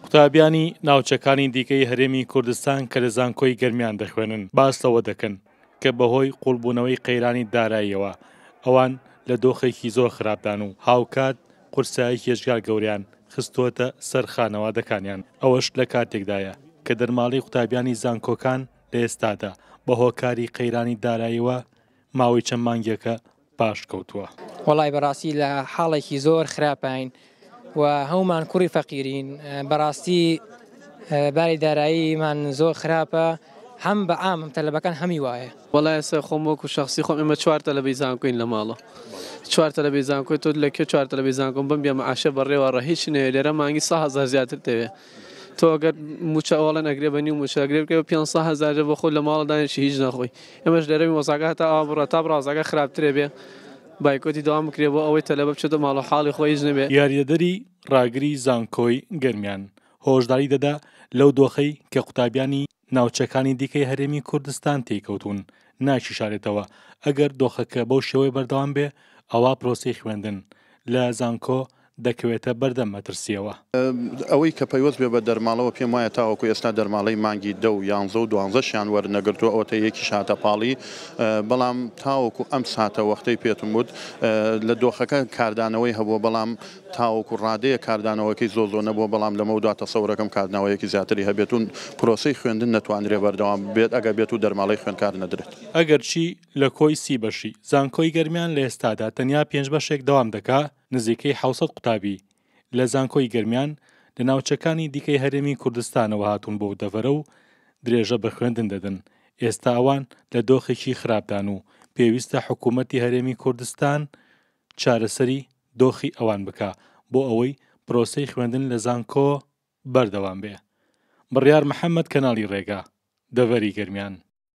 قوتابیانی ناوچەکانی دیکەی هەرێمی کوردستان کە لە زانکۆی گەرمیان دەخوێنن باس لەوە دەکەن کە بەهۆی قوڵبوونەوەی قەیرانی داراییەوە ئەوان لە دۆخێکی زۆر خراپدان و هاوکات قورساییەکی یەجگار گەورەیان خستووەتە سەر خانەوادەکانیان، ئەوەش لە کاتێکدایە کە دەرماڵەی قوتابیانی زانکۆکان لە ئێستادا بە هۆکاری قەیرانی داراییەوە ماوەی چەند مانگێکە پاشکەوتووە. وەڵای بەڕاستی لە حاڵێکی زۆر خراپاین و هەموومان کوڕی فەقیرین بەڕاستی باری داراییمان زۆر خراپە هەم بە عام هەم تەلەبەکان هەمی وایە. وەڵا ئێستا خۆم وەکو شەخسی خۆم ئێمە چوار تەلەبەی زانکۆین لە ماڵە چوار تەلەبەی زانکۆی تۆ لە کوێ چوار تەلەبەی زانکۆم بم بێ معاشە بەڕێوە ڕە هیچ نەوێ لێرە مانگی 100 هەزار زیاتر دەوێ تۆ ئەگەر موچە ئەوڵەن ئەگرێ بە نیو موچە ئەگرێ بکەوە 500 هەزار بۆ خۆت لە ماڵە دانیشی هیچ نەخۆی ئێمەش لێرە وەزعەکە هەتا ئاوا بڕا تا بڕازەکە خراپترێ بێ بایکۆتی دەوام بکرێ بۆ ئەوەی تەلەبە بچێتە ماڵ و حاڵی خۆی هیچ نەبێ. یاریدەدەری ڕاگری زانکۆی گەرمیان هۆشداری دەدا لەو دۆخەی کە قوتابیانی ناوچەکانی دیکەی هەرێمی کوردستان تێیکەوتوون ناکیشارێتەوە، ئەگەر دۆخەکە بەو شێوەیە بەردەوام بێ ئەوا پرۆسەی خوێندن لە زانکۆ دەکەوێتە بەردەم مەترسییەوە. ئەوەی کە پەیوەست بێ بە دەرماڵەوە پێم وایە تاوەکو ئێستا دەرماڵەی مانگی دە و یانزە و دوانزەشیان وەرنەگرتووە ئەوەتە یەکیش هاتە پاڵی بەڵام تاوەکو ئەم ساتە وەختەی پێتم وت لە دۆخەکە کاردانەوەی هەبووە بەڵام تاوەکو ڕادەیەک کاردانەوەکەی زۆر زۆر نەبووە بەڵام لەمەودوا تەسەورەکەم کاردناوەیەکی زیاتری هەبێت و پرۆسەی خوێندن نەتوانرێ بەردەوام بێت ئەگەر بێت و دەرماڵەی خوێندکار نەدرێت. ئەگەرچی لە کۆی سی بەشی زانکۆی گەرمیان لە ئێستادا تەنیا پێنج بەشێک دەوام دەکا، نزیکەی 700 قوتابی لە زانکۆی گەرمیان لە ناوچەکانی دیکەی هەرێمی کوردستانەوە هاتوون بۆ دەڤەرە و درێژە بە خوێندن دەدەن، ئێستا ئەوان لە دۆخێکی خراپدان و پێویستە حکوومەتی هەرێمی کوردستان چارەسەری دۆخی ئەوان بکا بۆ ئەوەی پرۆسەی خوێندن لە زانکۆ بەردەوام بێ. بڕیار محەمەد کەناڵی ڕێگا، دەڤەری گەرمیان.